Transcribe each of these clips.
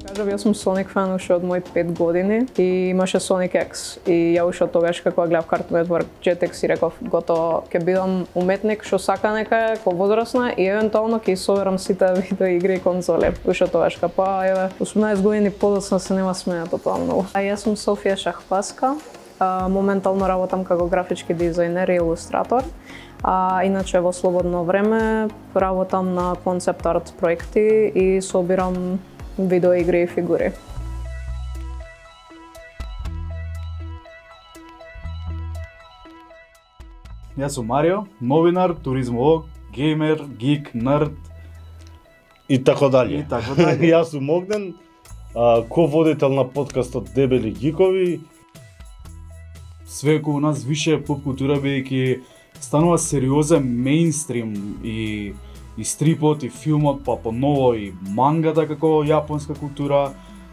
Кажав, јас сум Sonic фан уште од мои 5 години и имаше Sonic X и ја уште тогаш како гледав Cartoon Network Jetix и реков готово ќе бидам уметник што сака некај ко возрастна и евентуално ќе соберам сите видеоигри и конзоли. Уште тогаш па еве 18 години подоцна се нема сменето тоа многу. А јас сум Софија Шахпаска. Моментално работам како графички дизајнер и илустратор. Иначе во слободно време работам на концепт арт проекти и собирам видеоигри и фигури. Јас сум Марио, новинар, туризмолог, геймер, гик, нерд и така дали. Јас сум Огнен, ко-водител на подкастот Дебели гикови. Све околу нас више поп култура бидејќи станува сериозен мејнстрим и стрипот и филмот, па поново и мангата како јапонска култура.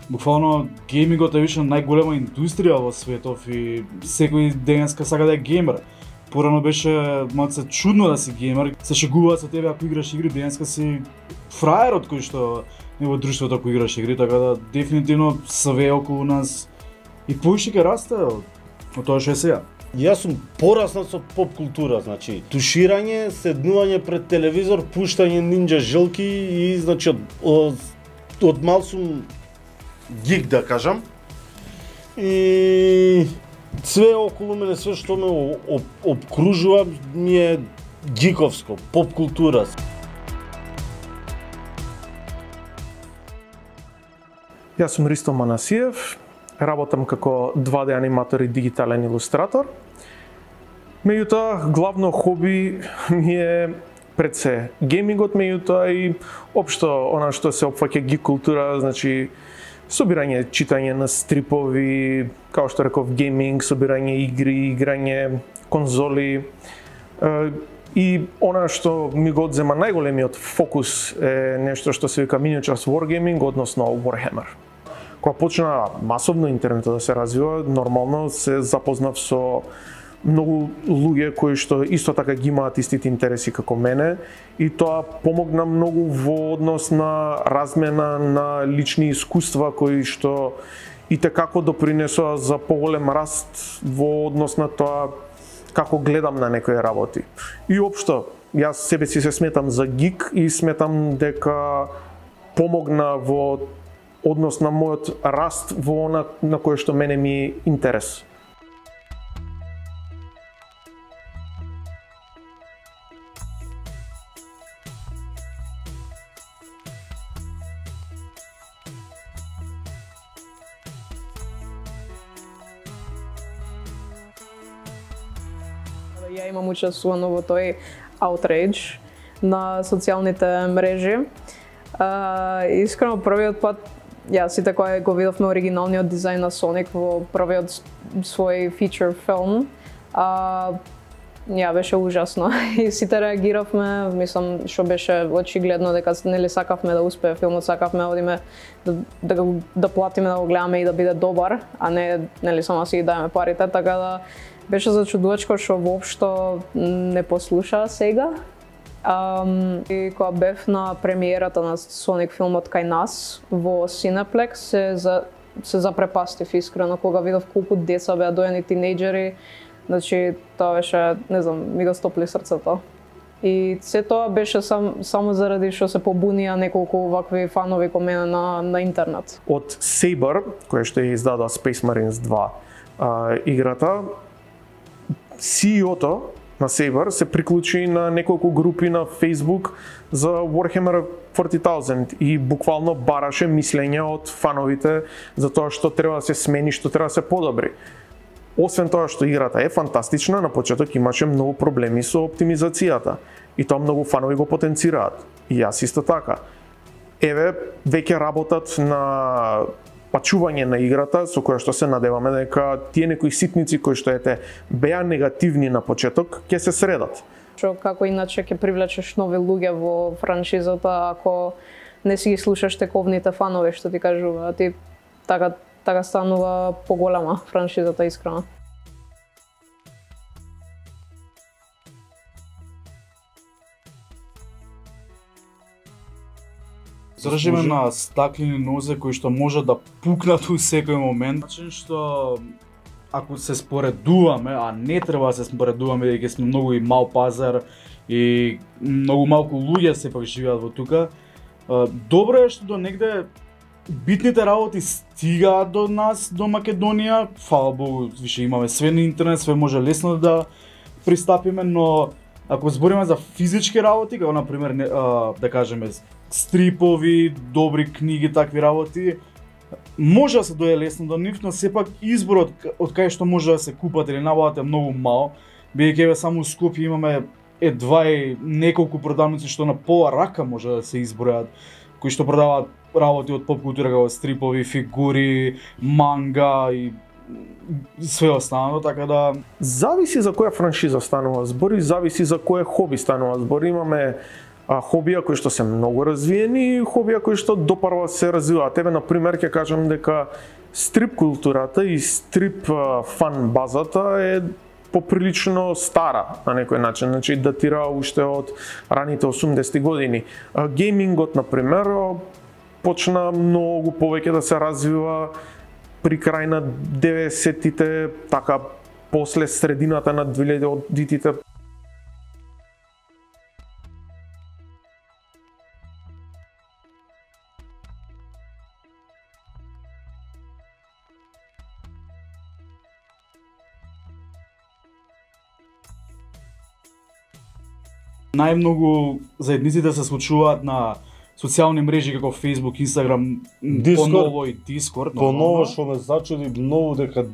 Буквално геймингот е више најголема индустрија во светов и секој денеска сака да е геймер. Порано беше малце чудно да си геймер, се шегуваат со тебе ако играш игри, денеска си фраерот кој што е во друштвото ако играш игри, така да дефинитивно све околу нас и поише ќе расте од тоа што е сега. Јас сум пораснат со поп култура, значи туширање, седнување пред телевизор, пуштање нинџа жилки и значи од мал сум гик да кажам. И све околу мене, све што ме обкружува ми е гиковско, поп култура. Јас сум Ристо Манасиев, работам како 2D аниматор и дигитален илустратор. Меѓутоа, главно хоби ми е пред се геймингот, меѓутоа и општо она што се опфаќа гик култура, значи собирање, читање на стрипови, како што реков, гейминг, собирање игри, играње конзоли. И она што ми го одзема најголемиот фокус е нешто што се вика Miniatures Wargaming, односно Warhammer. Кога почна масовно интернетот да се развива, нормално се запознав со многу луѓе кои што исто така ги имаат истите интереси како мене и тоа помогна многу во однос на размена на лични искуства кои што и текако допринесоа за поголем раст во однос на тоа како гледам на некои работи. И општо, јас себе си се сметам за гик и сметам дека помогна во однос на мојот раст во она на кое што мене ми е интерес. Ја имам учествувано во тој outrage на социјалните мрежи. Искрено првиот пат јас сите кога го видовме оригиналниот дизајн на Соник во првиот свој фичер филм, ја беше ужасно и сите реагиравме, мислам што беше очигледно дека нели сакавме да успее филмот, сакавме да одиме да платиме да го гледаме и да биде добар, а не нели само си ги дајме парите, така да беше зачудувачко што воопшто не послуша сега. И кога бев на премиерата на Соник филмот кај нас во Cineplex се запрепастив искрено кога видов колку деца беа дојани тинејџери, значи тоа беше, не знам, ми го стопли срцето. И се тоа беше само заради што се побунија неколку вакви фанови ко мене на интернет. Од Saber, која што ја издадоа Space Marines 2 играта, CEO-то на Saber се приклучи на неколку групи на Facebook за Warhammer 40,000 и буквално бараше мислење од фановите за тоа што треба да се смени, што треба да се подобри. Освен тоа што играта е фантастична, на почеток имаше многу проблеми со оптимизацијата и тоа многу фанови го потенцираат. И јас исто така. Еве, веќе работат на пачување на играта, со која што се надеваме дека тие некои ситници кои што беа негативни на почеток, ќе се средат. Што како иначе ќе привлечеш нови луѓе во франшизата ако не си ги слушаш тековните фанови што ти кажуваат, и така станува поголема франшизата искрено. Држиме на стаклени нозе кои што може да пукнат у секој момент. Начин што ако се споредуваме, а не треба да се споредуваме бидејќи сме многу и мал пазар и многу малку луѓе сепак живеат во тука, добро е што до негде битните работи стигаат до нас, до Македонија. Фала Богу, више имаме све на интернет, све може лесно да пристапиме, но ако збориме за физички работи, како например да кажеме стрипови, добри книги, такви работи, може да се дојде лесно до нив, но сепак изборот од кај што може да се купат или набават е многу мал, бидејќи еве само у Скопје имаме едва и неколку продавници што на пола рака може да се избројат, кои што продаваат работи од поп култура како стрипови, фигури, манга и све останало, така да зависи за која франшиза станува збор и зависи за кое хоби станува збор. Имаме хобија кои што се многу развиени и хобија кои што допарва се развиваат. Еве на пример ќе кажам дека стрип културата и стрип фан базата е поприлично стара на некој начин, значи датира уште од раните 80-ти години. Геймингот на пример почна многу повеќе да се развива при крај на 90-тите, така после средината на 2000-тите. Најмногу заедниците се случуваат на социјални мрежи како Facebook, Instagram, Discord, поново и Discord. Поново што ме зачуди многу дека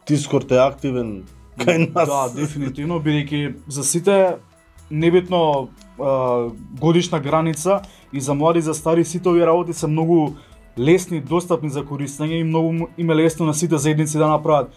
Discord е активен кај нас. Да, дефинитивно, бидејќи за сите небитно годишна граница и за млади и за стари сите овие работи се многу лесни, достапни за користење и многу им е лесно на сите заедници да направат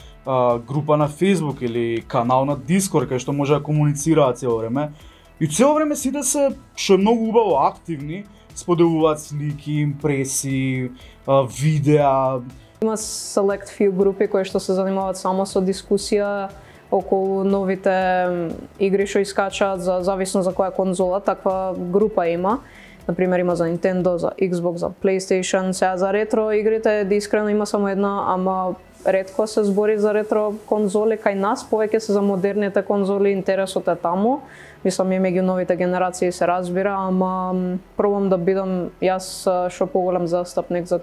група на Facebook или канал на Discord кај што може да комуницираат цело време. И цело време сите се, што е многу убаво, активни, споделуваат слики, импресии, видеа. Има select few групи кои што се занимаваат само со дискусија околу новите игри што искачаат, за зависно за која конзола, таква група има. Например, има за Nintendo, за Xbox, за PlayStation, сега за ретро игрите, искрено има само една, ама ретко се збори за ретро конзоли кај нас, повеќе се за модерните конзоли, интересот е таму. Мислам и меѓу новите генерации се разбира, ама пробам да бидам јас што поголем застапник за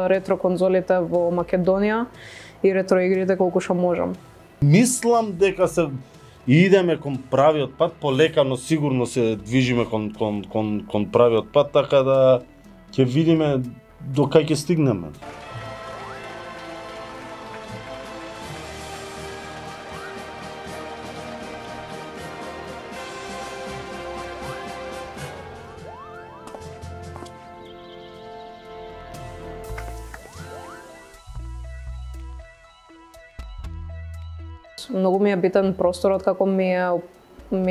ретро конзолите во Македонија и ретро игрите колку што можам. Мислам дека се идеме кон правиот пат, полека, но сигурно се движиме кон правиот пат, така да ќе видиме до кај ќе стигнеме. Многу ми е битен просторот како ми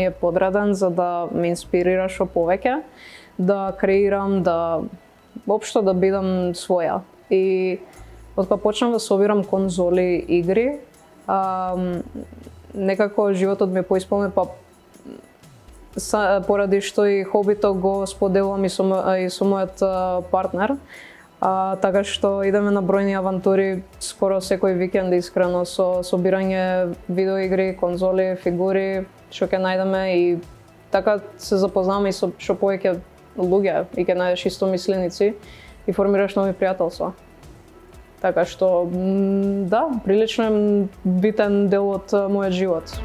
е подреден за да ме инспирира што повеќе, да креирам, да општо да бидам своја. И откога почнав да собирам конзоли игри, некако животот ми е поисполнет, поради што и хобито го споделувам и со мојот партнер. Така што идеме на бројни авантури скоро секој викенд, искрено, со собирање видеоигри, конзоли, фигури, што ќе најдеме и така се запознаваме и со што повеќе луѓе и ќе најдеш истомисленици и формираш нови пријателства. Така што, да, прилично е битен дел од мојот живот.